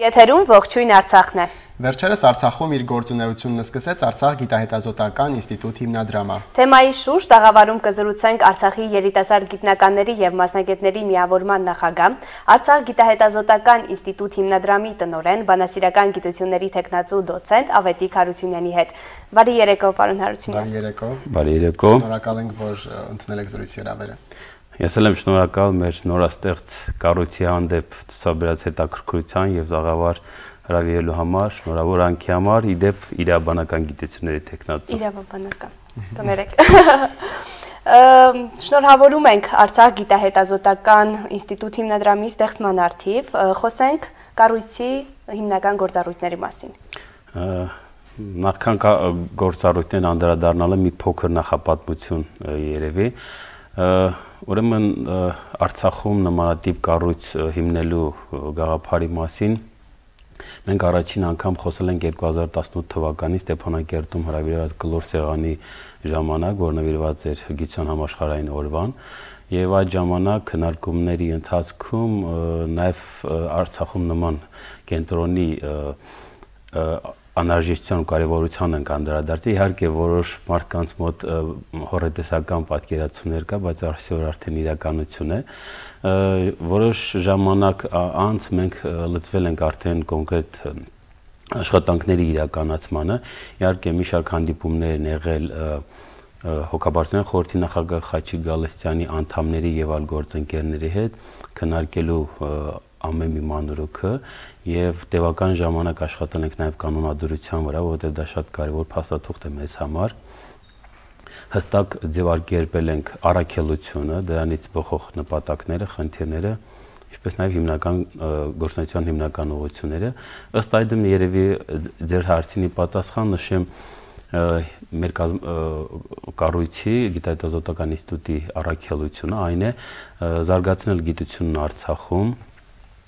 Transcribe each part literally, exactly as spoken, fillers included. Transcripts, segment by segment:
Եթերում ողջույն Արցախն է։ Վերջերս Արցախում իր գործունեությունն սկսեց Արցախ գիտահետազոտական ինստիտուտ հիմնադրամը։ Թեմայի շուրջ տաղավարում կզրուցենք Արցախի երիտասարդ գիտնականների եւ մասնագետների միավորման նախագահ, Արցախ գիտահետազոտական ինստիտուտ հիմնադրամի տնօրեն, բանասիրական գիտությունների թեկնածու դոցենտ Ավետիք Հարությունյանի հետ։ Բարի երեկո, պարոն Հարությունյան։ Բարի երեկո։ Բարի երեկո։ Շնորհակալ ենք, որ ընդունել եք զրույցի հրավերը։ Ես էլ եմ շնորհակալ մեր նորաստեղծ կառույցի հանդեպ ցուցաբերած հետաքրքրության եւ զաղավար հրավիրելու համար, շնորհավորանքի համար, իդեպ իրավաբանական գիտությունների թեկնածու։ Իրավաբանական։ Կներեք։ Շնորհավորում ենք Արցախ գիտահետազոտական ինստիտուտ հիմնադրամի ստեղծման առթիվ, խոսենք կառույցի հիմնական գործառույթների մասին։ Նախքան գործառույթներն անդրադառնալը մի փոքր նախապատմություն երևի։ Ուրեմն Արցախում նմանատիպ կառույց հիմնելու գաղափարի մասին մենք առաջին անգամ խոսել ենք երկու հազար տասնութ թվականին Ստեփանակերտում հրավիրված կլոր սեղանի ժամանակ, որ նվիրված էր գիտության համաշխարհային օրվան, եւ այդ ժամանակ քննարկումների ընթացքում նաեւ Արցախում նման կենտրոնի անհրաժեշտության ու կարևորության ենք անդրադարձել։ Իհարկե որոշ մարդկանց մոտ հորետեսական պատկերացումներ կա, բայց այսօր արդեն իրականություն է։ Որոշ ժամանակ անց մենք լծվել ենք արդեն կոնկրետ աշխատանքների իրականացմանը։ Իհարկե մի շարք հանդիպումներ են եղել Հոգաբարձության խորհրդի նախագահ Խաչիկ Գալստյանի անդամների եւ այլ գործընկերների հետ քննարկելու ամեն մի մանրուքը եւ տևական ժամանակ աշխատել ենք նաեւ կանոնադրության վրա, որովհետեւ դա շատ կարեւոր փաստաթուղթ է մեզ համար։ Հստակ ձևակերպել ենք առաքելությունը, դրանից բխող նպատակները, խնդիրները, ինչպես նաեւ հիմնական գործունեության հիմնական ուղղությունները։ Ըստ այդմ երևի ձեր հարցինի պատասխան նշեմ մեր կառույցի գիտահետազոտական ինստիտուտի առաքելությունը այն է զարգացնել գիտությունն Արցախում,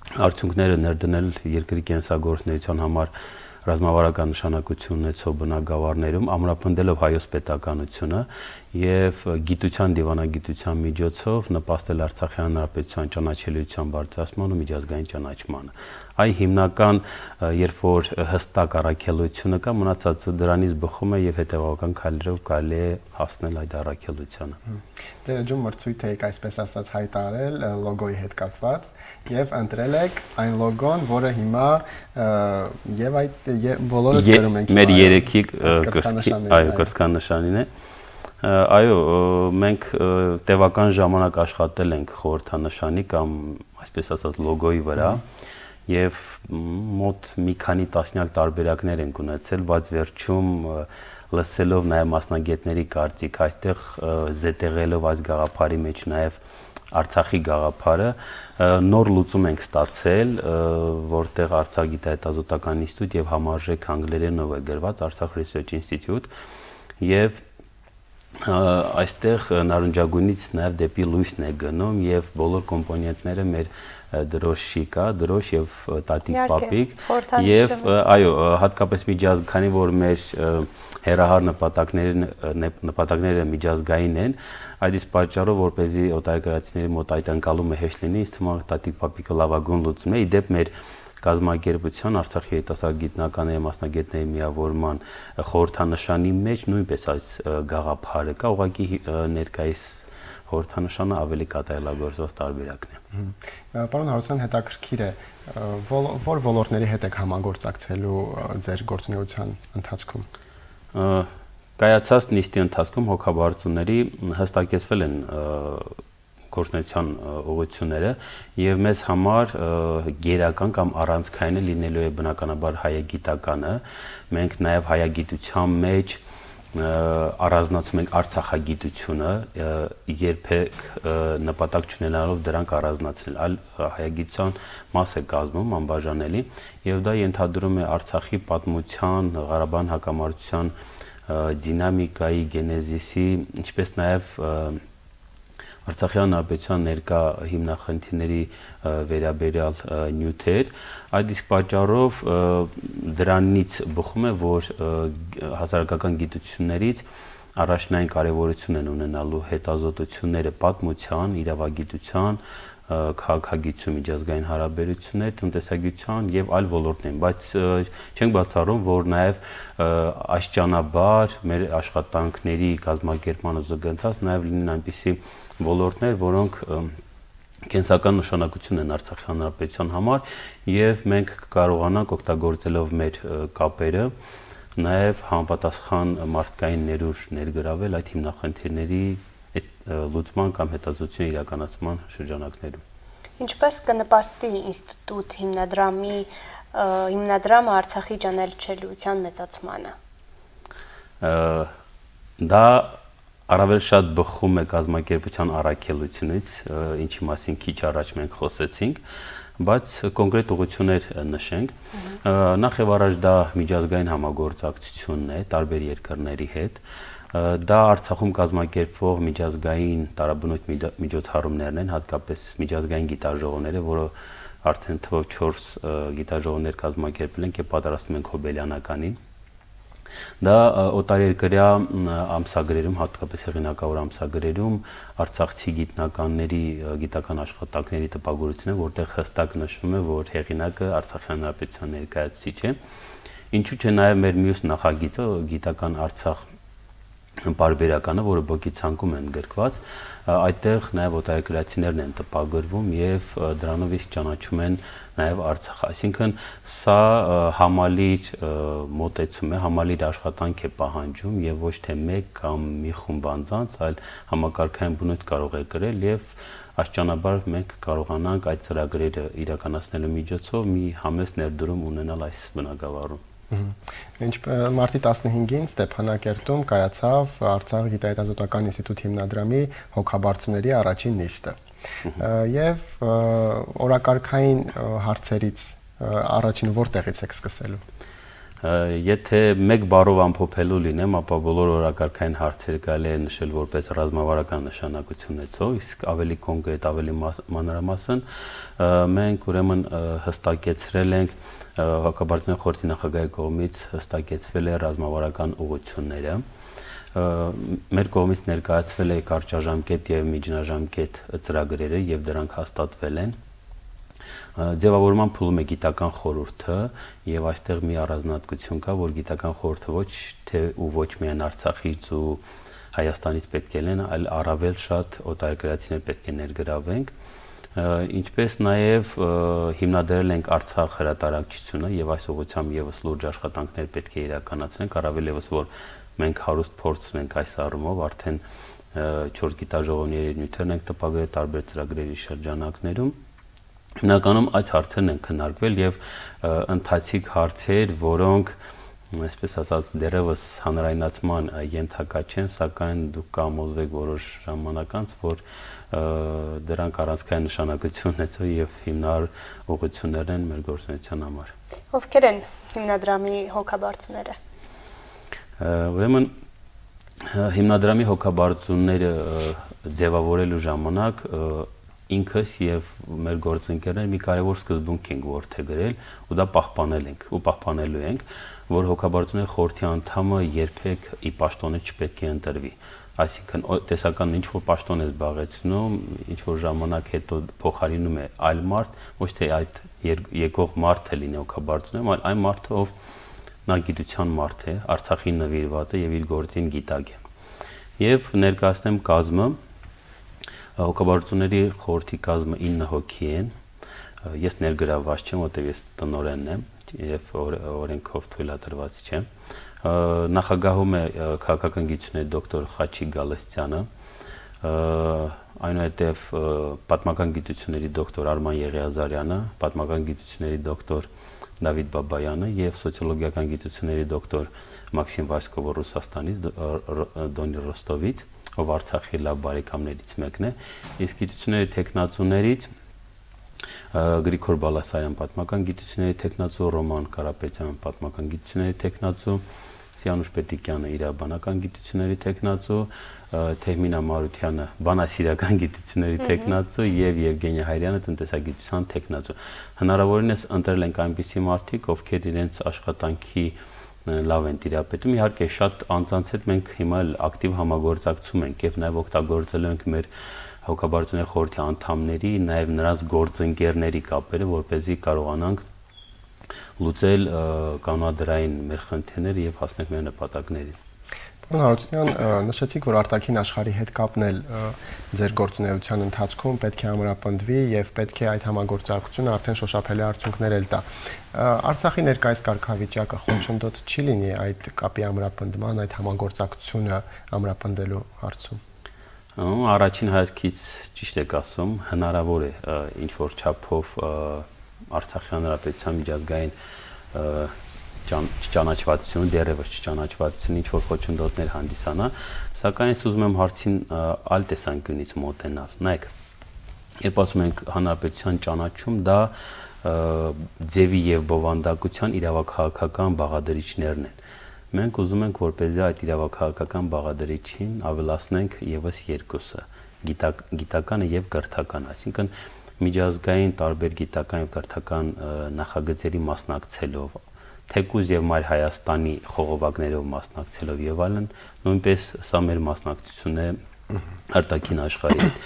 արդյունքները ներդնել երկրի կենսագործունեության համար ռազմավարական նշանակություն ունեցող բնակավարներում, ամրապնդելով հայոց պետականությունը եւ գիտության դիվանագիտության միջոցով նպաստել Արցախի հանրապետության ճանաչելիության բարձրացման ու միջազգային ճանաչմանը։ Այ հիմնական, երբ որ հստակ առաքելությունը կա, մնացածը դրանից բխում է եւ հետեւական քայլերով կարելի է հասնել այդ առաքելությանը։ Ձեր ջում մրցույթ եք այսպես ասած հայտարարել լոգոյի հետ կապված եւ ընտրել եք այն լոգոն, որը հիմա եւ այդ բոլորս գրում ենք մեր երեքի այո կրծքանշանին է։ Այո, մենք տևական ժամանակ աշխատել ենք խորհրդանշանի կամ այսպես ասած լոգոյի վրա եւ մոտ մի քանի տասնյակ տարբերակներ ենք ունեցել, բայց վերջում լսելով նաեւ մասնագետների կարծիք, այստեղ զետեղելով այս գաղափարի մեջ նաեւ Արցախի գաղափարը նոր լուծում ենք ստացել, որտեղ Արցախ գիտահետազոտական ինստիտուտ եւ համարժեք անգլերենով է գրված Արցախ Research Institute եւ այստեղ նարնջագույնից նաեւ դեպի լույսն է գնում եւ բոլոր կոմպոնենտները մեր դրոշի կա, դրոշ եւ տատիկ պապիկ եւ այո, հատկապես միջազգային, քանի որ մեր հերահար նպատակները նպատակները միջազգային են, այդ իսկ պատճառով որպեսզի օտարերկրացիների մոտ այդ անցալումը հեշտ լինի, ինձ թվում է տատիկ պապիկը լավագույն լուծումն է։ Իդեպ մեր կազմակերպության Արցախի երիտասարդ գիտնականների մասնագետների միավորման խորհրդանշանի մեջ նույնպես այս գաղափարը կա, ուղղակի ներկայիս խորհրդանշանը ավելի կատարելագործված տարբերակն է։ Պարոն Հարությունյան, հետաքրքիր է, որ ոլորտների հետ եք համագործակցելու ձեր գործունեության ընթացքում։ Կայացած նիստի ընթացքում հոգաբարձուների հստակեցվել են գործունեության ուղղությունները եւ մեզ համար գերական կամ առանցքայինը լինելու է բնականաբար հայագիտականը։ Մենք նաեւ հայագիտության մեջ առանձնացում ենք արցախագիտությունը, երբեք նպատակ չունենալով դրանք առանձնացնել, այլ հայագիտության մաս է կազմում անբաժանելի եւ դա ենթադրում է Արցախի պատմության, Ղարաբաղ հակամարտության դինամիկայի, գենեզիսի, ինչպես նաեւ Արցախի հանրապետության ներկա հիմնախնդիրների վերաբերյալ նյութեր, այդ իսկ պատճառով դրանից բխում է, որ հասարակական գիտություններից առաջնային կարևորություն են ունենալու հետազոտությունները պատմության, իրավագիտության, քաղաքագիտություն, միջազգային հարաբերություններ, տնտեսագիտության եւ այլ ոլորտներ, բայց չենք բացառում, որ նաեւ աշճանաբար մեր աշխատանքների կազմակերպման զուգընթաց նաեւ լինեն այնպիսի ոլորտներ, որոնք կենսական նշանակություն են Արցախի հանրապետության համար եւ մենք կարողանանք օգտագործելով մեր կապերը նաեւ համապատասխան մարդկային ներուժ ներգրավել այդ հիմնախնդիրների լուծման կամ հետազոտության իրականացման շրջանակներում։ Ինչպես կնպաստի ինստիտուտ հիմնադրամի հիմնադրամը Արցախի ճանաչելիության մեծացմանը։ Դա առավել շատ բխում է կազմակերպության առաքելությունից, ինչի մասին քիչ առաջ մենք խոսեցինք, բայց կոնկրետ ուղղություններ նշենք։ Նախ եւ առաջ դա միջազգային համագործակցությունն է տարբեր երկրների հետ։ Դա Արցախում կազմակերպվող միջազգային տարաբնույթ միջոցառումներն են, հատկապես միջազգային գիտաժողովները, որը արդեն թվով չորս գիտաժողովներ կազմակերպել ենք եւ պատրաստում ենք Հոբելյանականին։ Դա օտարերկրյա ամսագրերում, հատկապես հեղինակավոր ամսագրերում արցախցի գիտնականների գիտական աշխատանքների տպագրությունն է, որտեղ հստակ նշվում է, որ հեղինակը Արցախի հանրապետության ներկայացուցիչ է։ Ինչու՞ չէ նաև մեր մյուս նախագիծը գիտական Արցախ պարբերականը, որը բոկի ցանկում են գրկված, այդտեղ նաև օտարերկրացիներն են տպագրվում եւ դրանով իսկ ճանաչում են նաև Արցախը, այսինքն սա համալիր մոտեցում է, համալիր աշխատանք է պահանջում եւ ոչ թե մեկ կամ մի խումբ անձանց, այլ համակարգային բնույթ կարող է կրել եւ աշճանաբար մենք կարողանանք այդ ծրագրերը իրականացնելու միջոցով մի համեստ ներդրում ունենալ այս բնագավառում։ Մարտի տասնհինգին Ստեփանակերտում կայացավ Արցախ գիտահետազոտական ինստիտուտ հիմնադրամի հոգաբարձուների առաջին նիստը։ Եվ օրակարգային հարցերից առաջին որտեղից եք սկսելու։ Եթե մեկ բառով ամփոփելու լինեմ, ապա բոլոր օրակարգային հարցերը կարելի է նշել որպես ռազմավարական նշանակություն ունեցող, իսկ ավելի կոնկրետ, ավելի մանրամասն մենք ուրեմն հստակեցրել ենք հոգաբարձության խորհրդի նախագահի կողմից հստակեցվել է ռազմավարական ուղղությունները։ Մեր կողմից ներկայացվել է կարճաժամկետ եւ միջնաժամկետ ծրագրերը եւ դրանք հաստատվել են։ Ձևավորման փուլում է գիտական խորհուրդը եւ այստեղ մի առանձնահատկություն կա, որ գիտական խորհուրդը ոչ թե ու ոչ միայն Արցախից ու Հայաստանից պետք է լինեն, այլ առավել շատ օտարերկրացիներ պետք է ներգրավենք, ինչպես նաեւ հիմնադրել ենք Արցախ հրատարակչությունը եւ այս ուղղությամբ եւս լուրջ աշխատանքներ պետք է իրականացնենք, առավել եւս որ մենք հարուստ փորձ ունենք այս առումով, արդեն չորս գիտաժողովների նյութերն ենք տպագրել տարբեր ծրագրերի շրջանակներում։ Հիմնականում այս հարցերն են քննարկվել եւ ընթացիկ հարցեր, որոնք այսպես ասած դերևս հանրայնացման ենթակա չեն, սակայն դուք կամոզվեք որոշ ժամանակ անց, որ դրանք առանցքային նշանակություն ունեցող եւ հիմնարար ուղղություններ են մեր գործունեության համար։ Ովքեր են հիմնադրամի հոգաբարձուները։ Ուրեմն հիմնադրամի հոգաբարձուները ձևավորելու ժամանակ ինքս եւ մեր գործընկերները մի կարևոր սկզբունք ենք որդեգրել ու դա պահպանել ենք ու պահպանելու ենք, որ հոգաբարձուների խորհրդի անդամը երբեք ի պաշտոնը չպետք է ընտրվի։ Այսինքն տեսական ինչ որ պաշտոն է զբաղեցնում, ինչ որ ժամանակ հետո փոխարինում է այլ մարդ, ոչ թե այդ եկող մարդը լինի հոգաբարձունում, այլ այն մարդը, ով նա գիտության մարդ է, Արցախին նվիրված է եւ իր գործին գիտակ է։ Եվ ներկայացնեմ կազմը Հոգաբարձուների խորհրդի կազմը ինը հոգի են, ես ներգրավված չեմ, որտեղ ես տնօրենն եմ եւ օրենքով թույլատրված չեմ։ Նախագահում է քաղաքական գիտությունների դոկտոր Խաչիկ Գալստյանը, այնուհետև պատմական գիտությունների դոկտոր Արման Եղիազարյանը, պատմական գիտությունների դոկտոր Դավիթ Բաբայանը եւ սոցիոլոգիական գիտությունների դոկտոր Մաքսիմ Վասկովը Ռուսաստանից, Դոնի Ռոստովից, ով Արցախի լավ բարեկամներից մեկն է, իսկ գիտությունների տեխնացուներից Գրիգոր Բալասարյան պատմական գիտությունների տեխնացու, Ռոման Կարապետյան պատմական գիտությունների տեխնացու, Սիանուշ Պետիկյանը իրավաբանական գիտությունների տեխնացու, Թեհմինա Մարությանը բանասիրական գիտությունների տեխնացու եւ Եվգենիա Հայրյանը տնտեսագիտության տեխնացու։ Հնարավորինս ընտրել ենք այնպիսի մարդիկ, ովքեր իրենց աշխատանքի լավ են տիրապետում։ Իհարկե շատ անձանց հետ մենք հիմա ակտիվ համագործակցում ենք եւ նաեւ օգտագործել ենք մեր հոգաբարձությունների խորհրդի անդամների, նաև նրանց գործընկերների կապերը, որպեսզի կարողանանք լուծել կանոնադրային մեր խնդիրները եւ հասնենք մեր նպատակներին։ Պարոն Հարությունյան, նշեցիք, որ արտաքին աշխարհի հետ կապն էլ ձեր գործունեության ընթացքում պետք է ամրապնդվի եւ պետք է այդ համագործակցությունը արդեն շոշափելի արդյունքներ էլ տա։ Արցախի ներկայիս կարգավիճակը խոչընդոտ չի լինի այդ կապի ամրապնդման, այդ համագործակցությունը ամրապնդելու հարցում։ Առաջին հայացքից ճիշտ եք ասում, հնարավոր է ինչ որ չափով Արցախի հանրապետության միջազգային չճանաչվածություն, դեռևս չճանաչվածություն ինչ որ խոչընդոտներ հանդիսանա, սակայն ես ուզում եմ հարցին այլ տեսանկյունից մոտենալ։ Նայեք, երբ ասում ենք հանրապետության ճանաչում, դա ձևի եւ բովանդակության իրավաքաղաքական բաղադրիչներն են։ Մենք ուզում ենք, որպեսզի այդ իրավաքաղաքական բաղադրիչին ավելացնենք եւս երկուսը՝ գիտականը եւ կրթականը, այսինքն միջազգային տարբեր գիտական եւ կրթական նախագծերի մասնակցելով, թեկուզ եւ Մայր Հայաստանի խողովակներով մասնակցելով եւ այլն, նույնպես սա մեր մասնակցությունն է արտաքին աշխարհի հետ։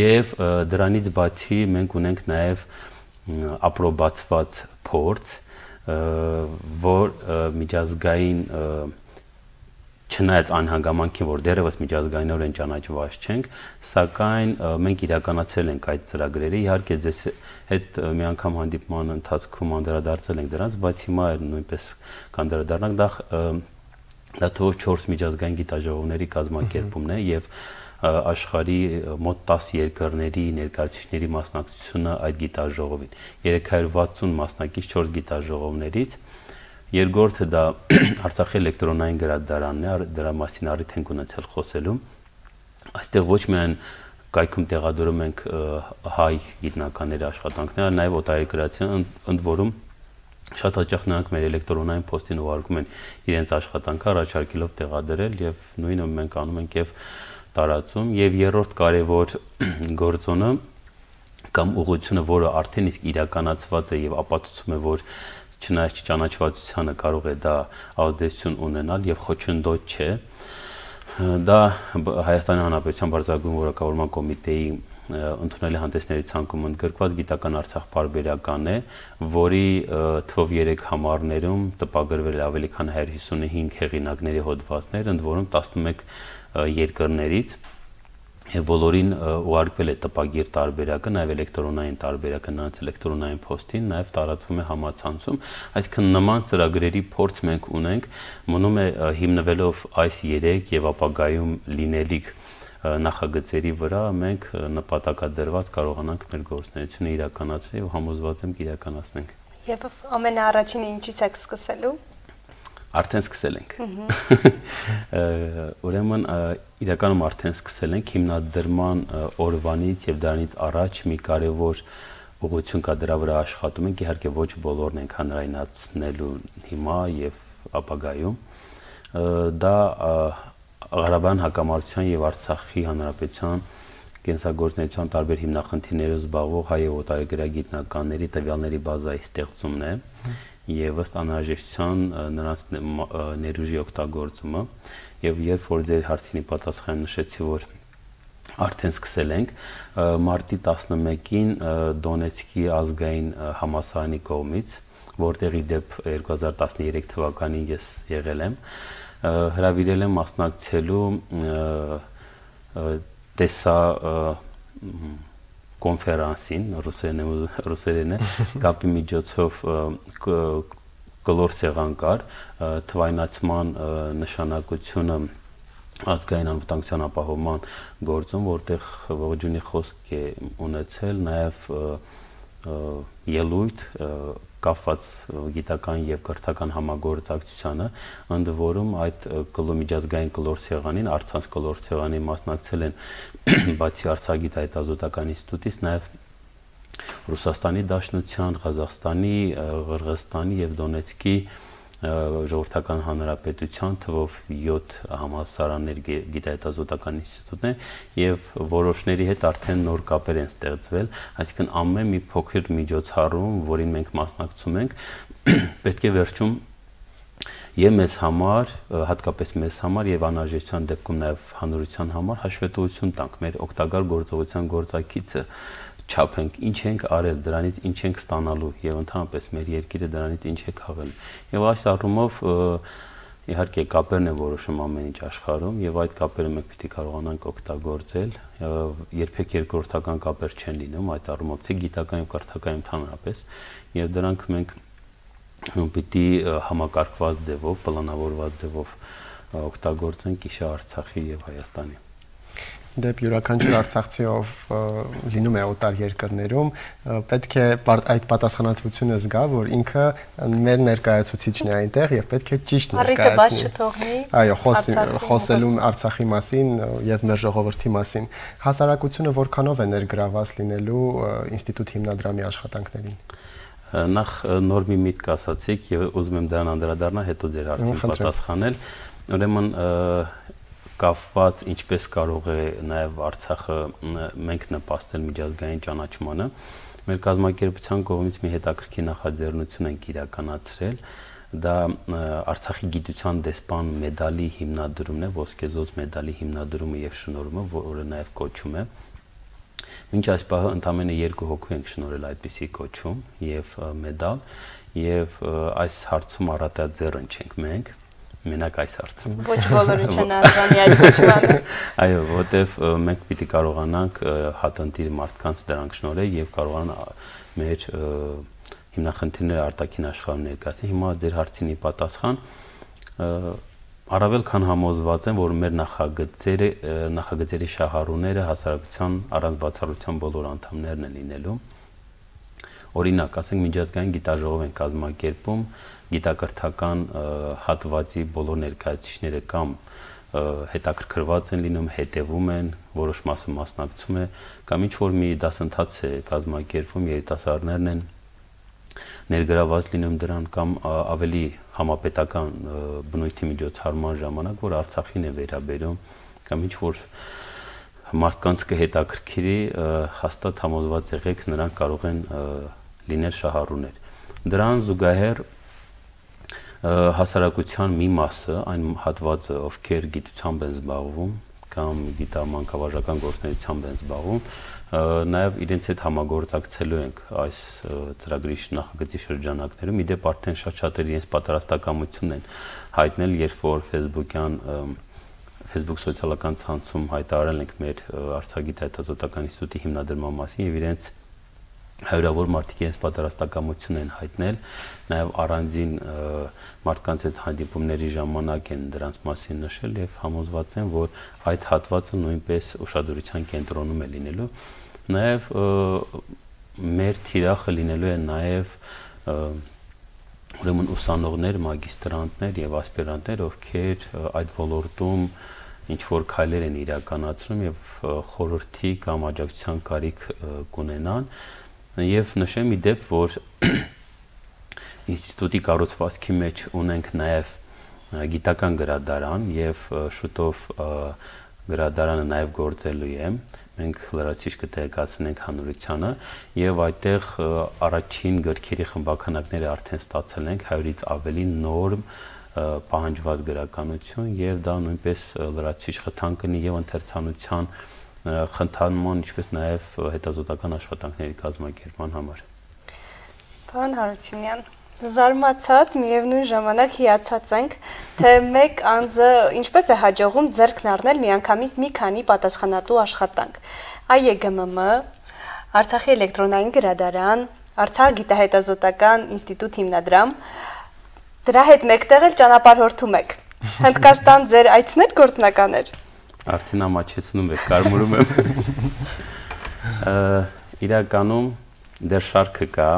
Եվ դրանից բացի մենք ունենք նաեւ ապրոբացված փորձ, որ միջազգային չնայած այն հանգամանքին, որ դեռևս միջազգայինորեն ճանաչված չենք, սակայն մենք իրականացրել ենք այդ ծրագրերը, իհարկե ձեզ հետ մի անգամ հանդիպման ընթացքում անդրադարձել ենք դրանց, բայց հիմա նույնպես կանդրադառնանք, դա դա թվով չորս միջազգային գիտաժողովների կազմակերպումն է եւ աշխարհի մոտ տասը երկրների ներկայացուցիչների մասնակցությունը այդ գիտաժողովին։ երեք հարյուր վաթսուն մասնակից չորս գիտաժողովներից։ Երկրորդը դա Արցախի էլեկտրոնային գրադարանն է, դրա մասին առիթ ենք ունեցել խոսելու։ Այստեղ ոչ միայն կայքում տեղադրում ենք հայ գիտնականների աշխատանքները, նաև օտարերկրացիան, ընդ որում շատ հաճախ նրանք մեր էլեկտրոնային փոստին ուղարկում են իրենց աշխատանքը, առաջարկելով տեղադրել եւ նույնը մենք անում ենք եւ տարածում։ Եվ երրորդ կարևոր գործոնը կամ ուղղությունը, որը արդեն իսկ իրականացված է եւ ապացուցում է, որ չնայած ճանաչվածությանը կարող է դա ազդեցություն ունենալ եւ խոչընդոտ չէ, դա Հայաստանի Հանրապետության Բարձրագույն Որակավորման կոմիտեի ընդունելի հանդեսների ցանկում ընդգրկված գիտական Արցախ պարբերական է, որի թվով երեք համարներում տպագրվել է ավելի քան հարյուր հիսունհինգ հեղինակների հոդվածներ, ընդ որում տասնմեկ երկրներից, եւ բոլորին ուղարկվել է տպագիր տարբերակը, նաեւ էլեկտրոնային տարբերակը նրանց էլեկտրոնային փոստին, նաեւ տարածվում է համացանցում, այսինքն նման ծրագրերի փորձ մենք ունենք, մնում է հիմնվելով այս երեք եւ ապագայում լինելիք նախագծերի վրա մենք նպատակադրված կարողանանք մեր գործունեությունը իրականացնել եւ համոզված եմ կիրականացնենք։ Եվ ամենաառաջինը ինչից եք սկսելու։ Արդեն սկսել ենք։ Ուրեմն իրականում արդեն սկսել ենք հիմնադրման օրվանից եւ դրանից առաջ մի կարեւոր ուղղություն կա, դրա վրա աշխատում ենք, իհարկե ոչ բոլորն ենք հանրայնացնելու հիմա եւ ապագայում։ Դա Ղարաբաղյան հակամարտության եւ Արցախի հանրապետության կենսագործունեության տարբեր հիմնախնդիրներով զբաղվող հայ եւ օտարերկրյա գիտնականների տվյալների բազայի ստեղծումն է եւ ըստ անհրաժեշտության նրանց ներուժի օգտագործումը եւ երբ որ ձեր հարցինի պատասխան նշեցի, որ արդեն սկսել ենք մարտի տասնմեկին Դոնեցկի ազգային համալսարանի կողմից, որտեղի դեպ երկու հազար տասներեք թվականին ես եղել եմ, հրավիրել եմ մասնակցելու տեսա կոնֆերանսին, ռուսերեն է, կապի միջոցով կլոր սեղան կար, թվայնացման նշանակությունը ազգային անվտանգության ապահովման գործում, որտեղ ողջունի խոսք է ունեցել, նաև ելույթ կապված գիտական եւ կրթական համագործակցությանը, ընդ որում այդ միջազգային կլոր սեղանին, Արցանց կլոր սեղանին մասնակցել են բացի Արցախ գիտահետազոտական ինստիտուտից, նաեւ Ռուսաստանի Դաշնության, Ղազախստանի, Ղրղստանի եւ Դոնեցկի ժողովրդական հանրապետության թվով յոթ համալսարաններ գիտահետազոտական ինստիտուտներ եւ որոշների հետ արդեն նոր կապեր են ստեղծվել, այսինքն ամեն մի փոքր միջոցառում, որին մենք մասնակցում ենք, պետք է վերջում Եվ մեզ համար, հատկապես մեզ համար եւ անհրաժեշտության դեպքում նաեւ հանրության համար հաշվետվություն տանք մեր օգտակար գործողության գործակիցը չափենք, ինչ ենք արել, դրանից ինչ ենք ստանալու եւ ընդհանրապես մեր երկիրը դրանից ինչ է քաղել։ Եվ այս առումով իհարկե կապերն են որոշում ամեն ինչ աշխարհում եւ այդ կապերը մենք պիտի կարողանանք օգտագործել, երբեք երկրորդական կապեր չեն լինում այդ առումով թե գիտական եւ կրթական ընդհանրապես եւ դրանք մենք պիտի համակարգված ձևով, պլանավորված ձևով օգտագործենք իշա Արցախի եւ Հայաստանի։ Դեպ յուրաքանչյուր արցախցիով լինում է օտար երկրներում, պետք է այդ պատասխանատվությունը զգա, որ ինքը մեր ներկայացուցիչն է այնտեղ եւ պետք է ճիշտ ներկայացնի։ Այո, խոսելու Արցախի մասին եւ մեր ժողովրդի մասին։ Հասարակությունը որքանով է ներգրաված լինելու ինստիտուտ հիմնադրամի աշխատանքներին։ Նախ նոր մի միտք ասացիք եւ ուզում եմ դրան անդրադառնալ, հետո ձեր հարցին պատասխանել։ Ուրեմն կապված ինչպես կարող է նաև Արցախը մենք նպաստել միջազգային ճանաչմանը։ Մեր կազմակերպության կողմից մի հետաքրքիր նախաձեռնություն ենք իրականացրել, դա Արցախի գիտության դեսպան մեդալի հիմնադրումն է, ոսկեզոծ մեդալի հիմնադրումը եւ շնորհումը, որը նաև կոչում է։ Մինչ այս պահը ընդամենը երկու հոգու ենք շնորհել այդպիսի կոչում եւ մեդալ, եւ այս հարցում առատաձեռն չենք մենք։ Մենակ այս հարցը։ Ոչ բոլորը չեն արժանի այդ կոչմանը։ Այո, որտեվ մենք պիտի կարողանանք հատընտիր մարդկանց դրանք շնորհել եւ կարողանան մեր հիմնախնդիրները արտաքին աշխարհում ներկայացնել։ Հիմա ձեր հարցինի պատասխան առավել քան համոզված եմ, որ մեր նախագծերը նախագծերի շահառուները հասարակության առանց բացառության բոլոր անդամներն են լինելու։ Օրինակ, ասենք միջազգային գիտաժողով են կազմակերպում գիտակրթական հատվածի բոլոր ներկայացուցիչները կամ հետաքրքրված են լինում, հետևում են, որոշ մասը մասնակցում է, կամ ինչ որ մի դասընթաց է կազմակերպվում, երիտասարդներն են ներգրաված լինում դրան, կամ ավելի համապետական բնույթի միջոցառման ժամանակ, որ Արցախին է վերաբերում, կամ ինչ որ մարդկանց կհետաքրքրի, հաստատ համոզված եղեք, նրանք կարող են լինել շահառուներ։ Դրան զուգահեռ հասարակության մի մասը, այն հատվածը, ովքեր գիտությամբ են զբաղվում կամ գիտամանկավարժական գործունեությամբ են զբաղվում, նաև իրենց հետ համագործակցելու ենք այս ծրագրի նախագծի շրջանակներում։ Իդեպ արդեն շատ-շատեր իրենց պատրաստակամություն են հայտնել, երբ որ Facebook-յան Facebook սոցիալական ցանցում հայտարարել ենք մեր Արցախի հետազոտական ինստիտուտի հիմնադրման մասին եւ իրենց հարյուրավոր մարդիկ իրենց պատրաստակամություն են հայտնել, նաև առանձին մարդկանց հետ հանդիպումների ժամանակ են դրանց մասին նշել եւ համոզված են, որ այդ հատվածը նույնպես ուշադրության կենտրոնում է լինելու։ Նաև մեր թիրախը լինելու է նաև ուրեմն ուսանողներ, մագիստրանտներ եւ ասպիրանտներ, ովքեր այդ ոլորտում ինչ որ քայլեր են իրականացնում եւ խորհրդի կամ աջակցության կարիք կունենան։ Եվ նշեմ ի դեպ, որ ինստիտուտի կառուցվածքի մեջ ունենք նաև գիտական գրադարան եւ շուտով գրադարանը նաև գործելու է։ Մենք լրացիչ կտեղեկացնենք հանրությանը եւ այդտեղ առաջին գրքերի խմբականակները արդեն ստացել ենք հարյուրից ավելի նոր պահանջված գրականություն եւ դա նույնպես լրացիչ խթան կնի եւ ընթերցանության խնդանման, ինչպես նաև հետազոտական աշխատանքների կազմակերպման համար։ Պարոն Հարությունյան, զարմացած, միևնույն ժամանակ հիացած ենք, թե մեկ անձը ինչպես է հաջողում ձեռքն առնել միանգամից մի քանի պատասխանատու աշխատանք։ Այ Է Գ M M, Արցախի էլեկտրոնային գրադարան, Արցախ գիտահետազոտական ինստիտուտ հիմնադրամ, դրա հետ մեկտեղ էլ ճանապարհորդում եք։ Հնդկաստան ձեր այցն էր գործնական էր։ Արդեն ամաչեցնում եք, կարմուրում եմ։ Իրականում դեռ շարքը կա,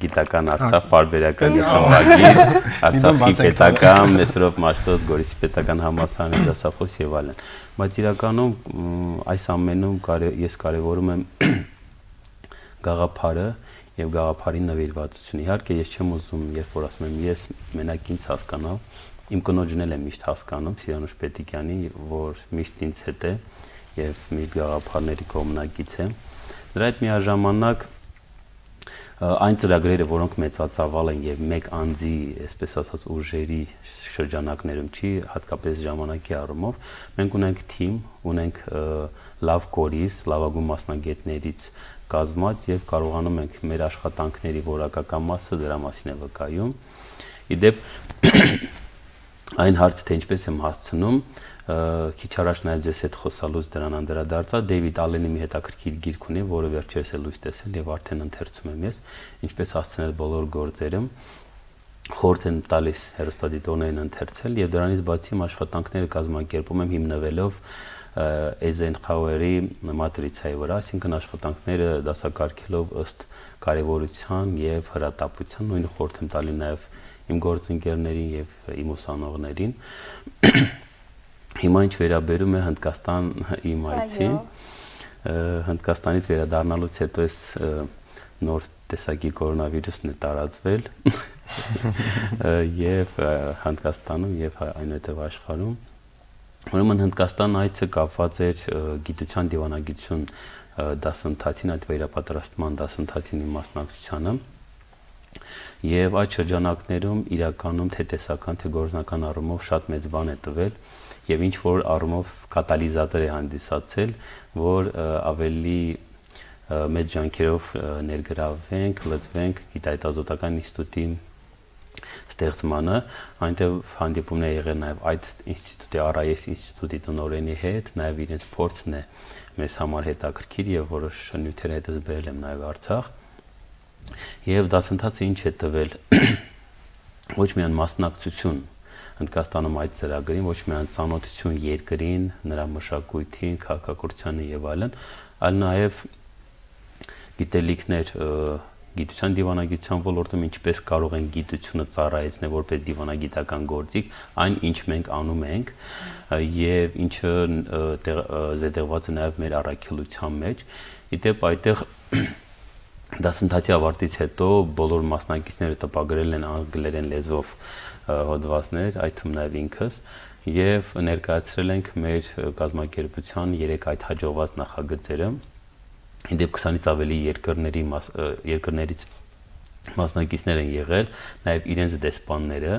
գիտական Արցախ պարբերական խմբագիր, Արցախի պետական, Մեսրոպ Մաշտոց, Գորիսի պետական համալսարանի դասախոս եւ այլն։ Բայց իրականում այս ամենում ես կարևորում եմ գաղափարը եւ գաղափարի նվիրվածությունը։ Իհարկե ես չեմ ուզում, երբ որ ասում եմ ես մենակ ինձ հասկանալ, իմ կնոջն էլ եմ միշտ հասկանում, Սիրանուշ Պետիկյանի, որ միշտ ինձ հետ է եւ մի գաղափարների կողմնակից է։ Դրա հետ միաժամանակ այն ծրագրերը, որոնք մեծածավալ են եւ մեկ անձի, այսպես ասած, ուժերի շրջանակներում չի, հատկապես ժամանակի առումով, մենք ունենք թիմ, ունենք լավ կորիզ, լավագույն մասնագետներից կազմված եւ կարողանում ենք մեր աշխատանքների որակական մասը դրա մասին է վկայում։ Իդեպ այն հարցը, թե ինչպես եմ հասցնում, քիչ առաջ նաև ձեզ հետ խոսալուց դրան անդրադարձա, Դեյվիդ Ալենի մի հետաքրքիր գիրք ունի, որը վերջերս էլ լույս տեսել եւ արդեն ընթերցում եմ ես, ինչպես հասցնել բոլոր գործերը, խորհուրդ եմ տալիս հեռուստադիտողներին ընթերցել եւ դրանից բացի աշխատանքները կազմակերպում եմ հիմնվելով Eisenhower-ի մատրիցայի վրա, այսինքն աշխատանքները դասակարգելով ըստ կարևորության եւ հրատապության, նույնը խորհուրդ եմ տալի նաեւ իմ գործընկերներին եւ իմ ուսանողներին։ Հիմա ինչ վերաբերում է Հնդկաստան իմ այցին, Հնդկաստանից վերադառնալուց հետո էս նոր տեսակի կորոնավիրուսն է տարածվել եւ Հնդկաստանում եւ այնուհետեւ աշխարհում։ Ուրեմն Հնդկաստան այցը կապված էր գիտության դիվանագիտություն դասընթացին, այդ վերապատրաստման դասընթացին իմ մասնակցությանը։ Եվ այդ շրջանակներում իրականում թե տեսական, թե գործնական առումով շատ մեծ բան է տվել եւ ինչ որ առումով կատալիզատոր է հանդիսացել, որ ավելի մեծ ջանքերով ներգրավվենք, լծվենք գիտահետազոտական ինստիտուտի ստեղծմանը, այնտեղ հանդիպումներ է եղել նաեւ այդ ինստիտուտի Ար Այ Էս ինստիտուտի տնօրենի հետ, նաեւ իրենց փորձն է մեզ համար հետաքրքիր եւ որոշ նյութեր հետս բերել եմ նաեւ Արցախ։ Եվ դասընթացը ինչ է տվել, ոչ միայն մասնակցություն Հնդկաստանում այդ ծրագրին, ոչ միայն ծանոթություն երկրին, նրա մշակույթին, քաղաքակրթությանը եւ այլն, այլ նաեւ գիտելիքներ գիտության դիվանագիտության ոլորտում ինչպես կարող են գիտությունը ծառայեցնել որպես դիվանագիտական գործիք, այն ինչ մենք անում ենք եւ ինչը զետեղված է նաեւ մեր առաքելության մեջ։ Իդեպ այդտեղ դասընթացի ավարտից հետո բոլոր մասնակիցները տպագրել են անգլերեն լեզվով հոդվածներ, այդ թվում նաև ինքս, եւ ներկայացրել ենք մեր կազմակերպության երեք այդ հաջողված նախագծերը։ Իդեպ քսանից ավելի երկրների երկրներից մասնակիցներ են եղել, նաև իրենց դեսպանները,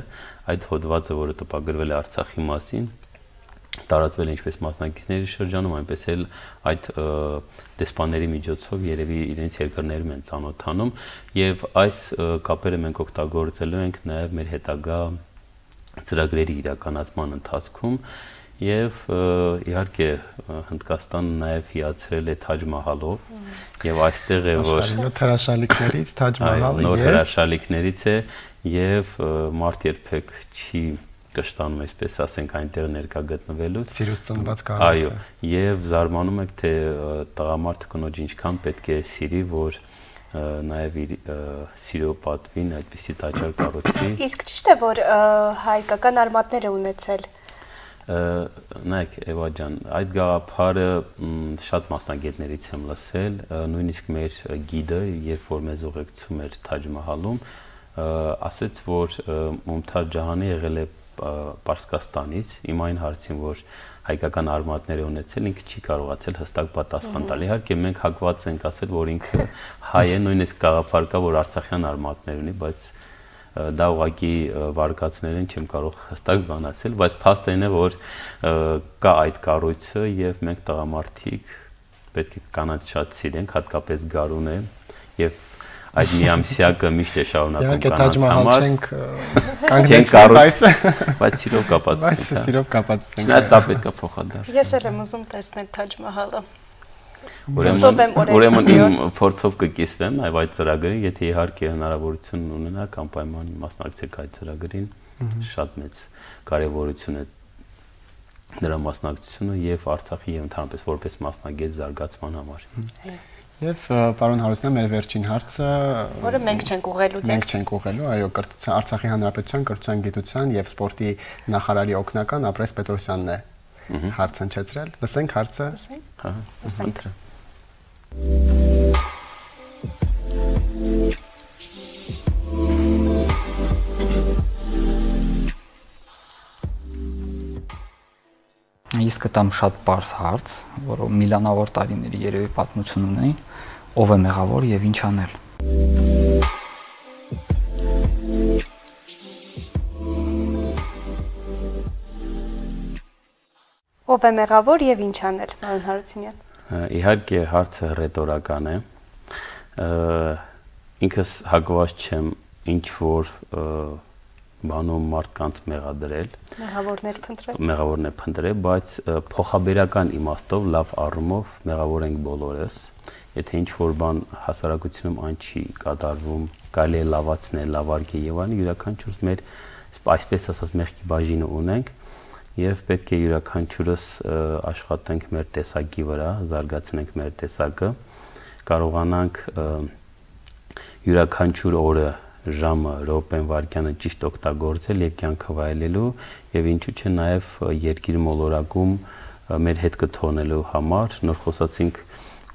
այդ հոդվածը, որը տպագրվել է Արցախի մասին, տարածվել է ինչպես մասնակիցների շրջանում, այնպես էլ այդ դեսպանների միջոցով երևի իրենց երկրներում են ծանոթանում եւ այս կապերը մենք օգտագործելու ենք նաեւ մեր հետագա ծրագրերի իրականացման ընթացքում եւ իհարկե Հնդկաստանը նաեւ հիացրել է Թաջ Մահալով եւ այստեղ է որ նոր հրաշալիքներից Թաջ Մահալը նոր հրաշալիքներից է եւ մարդ երբեք չի կշտանում, այսպես ասենք, այնտեղ ներկա գտնվելուց։ Սիրուց ծնված կառույցը։ Այո, եւ զարմանում եք, թե տղամարդը կնոջ ինչքան պետք է սիրի, որ նաեւ իր սիրո պատվին այդպիսի տաճար կառուցի։ Իսկ ճիշտ է, որ հայկական արմատներ է ունեցել։ Նայեք, Էվա ջան, այդ գաղափարը շատ մասնագետներից եմ լսել, նույնիսկ մեր գիդը, երբ որ մեզ ուղեկցում էր Թաջ Մահալում, ասաց, որ Մումթազ Ջահանը եղել է Պարսկաստանից, իմ այն հարցին, որ հայկական արմատներ է ունեցել, ինքը չի կարողացել հստակ պատասխան տալ։ Իհարկե մենք հակված ենք ասել, որ ինքը հայ է, նույնիսկ գաղափար կա, որ արցախյան արմատներ ունի, բայց դա ուղղակի վարկածներ են, չեմ կարող հստակ բան ասել, բայց փաստն է, որ կա այդ կառույցը եւ մենք տղամարդիկ պետք է կանանց շատ սիրենք, հատկապես Գարունը եւ այդ միամսյակը միշտ է շարունակում կանանց համար։ Չենք կանգնեցել, բայց բայց սիրով կապած ենք։ Բայց սիրով կապած ենք։ Նա դա պետք է փոխադարձ։ Ես էլ եմ ուզում տեսնել Թաջ Մահալը։ Ուրեմն իմ փորձով կկիսվեմ այ այդ ծրագրին, եթե իհարկե հնարավորություն ունենաք, անպայման մասնակցեք այդ ծրագրին, շատ մեծ կարևորություն է նրա մասնակցությունը եւ Արցախի եւ ընդհանրապես որպես մասնագետ զարգացման համար։ Եվ պարոն Հարությունյան, մեր վերջին հարցը, որը մենք չենք ուղղելու ձեզ։ Մենք չենք ուղղելու, այո, կրթության, Արցախի Հանրապետության կրթության, գիտության եւ սպորտի նախարարի օգնական Ապրես Պետրոսյանն է հարց հնչեցրել։ Լսենք հարցը։ Հա, լսենք։ Ես կտամ շատ պարզ հարց, որը միլիոնավոր տարիների երևի պատմություն ունի, ով է մեղավոր եւ ինչ անել։ Ով է մեղավոր եւ ինչ անել, պարոն Հարությունյան։ Իհարկե հարցը ռետորական է։ Ինքս հակված չեմ ինչ որ բանում մարդկանց մեղադրել, մեղավորներ փնտրել, մեղավորներ փնտրել, բայց փոխաբերական իմաստով լավ առումով մեղավոր ենք բոլորս։ Եթե ինչ որ բան հասարակությունում այն չի կատարվում, կարելի է լավացնել, լավարկել եւ այլն, յուրաքանչյուրս մեր այսպես ասած մեղքի բաժինը ունենք եւ պետք է յուրաքանչյուրս աշխատենք մեր տեսակի վրա, զարգացնենք մեր տեսակը, կարողանանք յուրաքանչյուր օրը ժամը, րոպեն, վայրկյանը ճիշտ օգտագործել եւ կյանքը վայելելու եւ ինչու՞ չէ նաեւ երկիր մոլորակում մեր հետքը թողնելու համար։ Նոր խոսացինք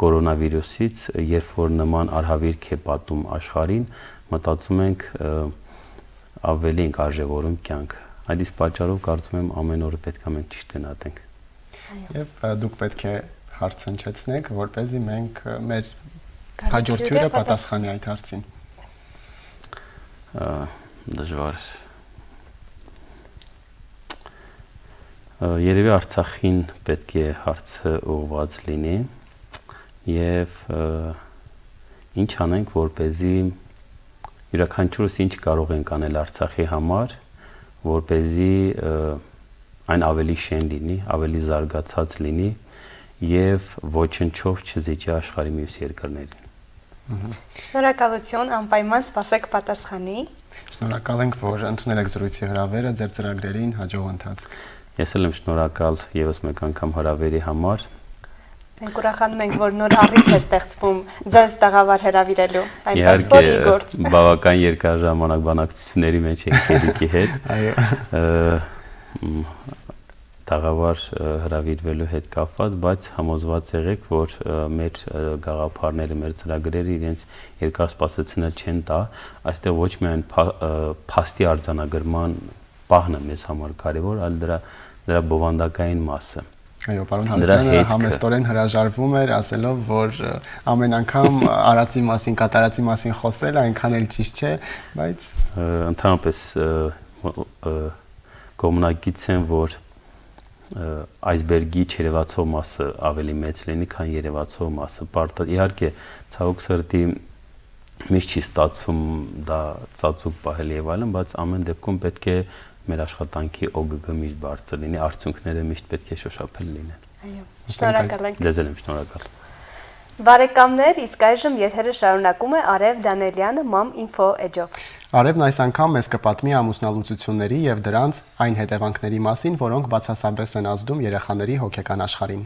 կորոնավիրուսից, երբ որ նման արհավիրք է պատում աշխարհին, մտածում ենք ավելի ենք արժևորում կյանքը։ Այդ իսկ պատճառով կարծում եմ ամեն օրը պետք է մենք ճիշտ գնահատենք։ Եվ դուք պետք է հարց հնչեցնեք, որպեսզի մենք մեր հաջորդ հյուրը պատասխանի այդ հարցին։ Դժվար։ Երևի Արցախին պետք է հարցը ուղղված լինի եւ ինչ անենք, որպեսզի յուրաքանչյուրս ինչ կարող ենք անել Արցախի համար, որպեսզի այն ավելի շեն լինի, ավելի զարգացած լինի եւ ոչնչով չզիջի աշխարհի մյուս երկրներին։ Շնորհակալություն, անպայման սպասեք պատասխանի։ Շնորհակալ ենք, որ ընդունել եք զրույցի հրավերը, ձեր ծրագրերին հաջող ընթացք։ Ես էլ եմ շնորհակալ եւս մեկ անգամ հրավերի համար։ Մենք ուրախանում ենք, որ նոր առիթ է ստեղծվում ձեզ տաղավար հրավիրելու, այնպես որ իգործ։ Բավական երկար ժամանակ բանակցությունների մեջ ենք Երիկի հետ։ Այո։ Տաղավար հրավիրվելու հետ կապված, բայց համոզված եղեք, որ մեր գաղափարները, մեր ծրագրերը իրենց երկար սպասեցնել չեն տա, այստեղ ոչ միայն փաստի արձանագրման պահն է մեզ համար կարևոր, այլ դրա դրա բովանդակային մասը։ Այո, պարոն Հարությունյանը համեստորեն հրաժարվում էր, ասելով, որ ամեն անգամ արածի մասին, կատարածի մասին խոսել այնքան էլ ճիշտ չէ, բայց ընդհանրապես կողմնակից են, որ այսբերգի չերևացող մասը ավելի մեծ լինի, քան երևացող մասը։ Իհարկե, ցավոք սրտի միշտ չի ստացվում դա ծածուկ պահել եւ այլն, բայց ամեն դեպքում պետք է մեր աշխատանքի օգ-գը միշտ բարձր լինի, արդյունքները միշտ պետք է շոշափել լինեն։ Այո, շնորհակալ ենք։ Ձեզ եմ շնորհակալ։ Բարեկամներ, իսկ այժմ եթերը շարունակում է Արև Դանելյանը Mom Info Edge-ով։ Արևն այս անգամ մեզ կպատմի ամուսնալուծությունների եւ դրանց այն հետևանքների մասին, որոնք բացասաբես են ազդում երեխաների հոգեկան աշխարհին։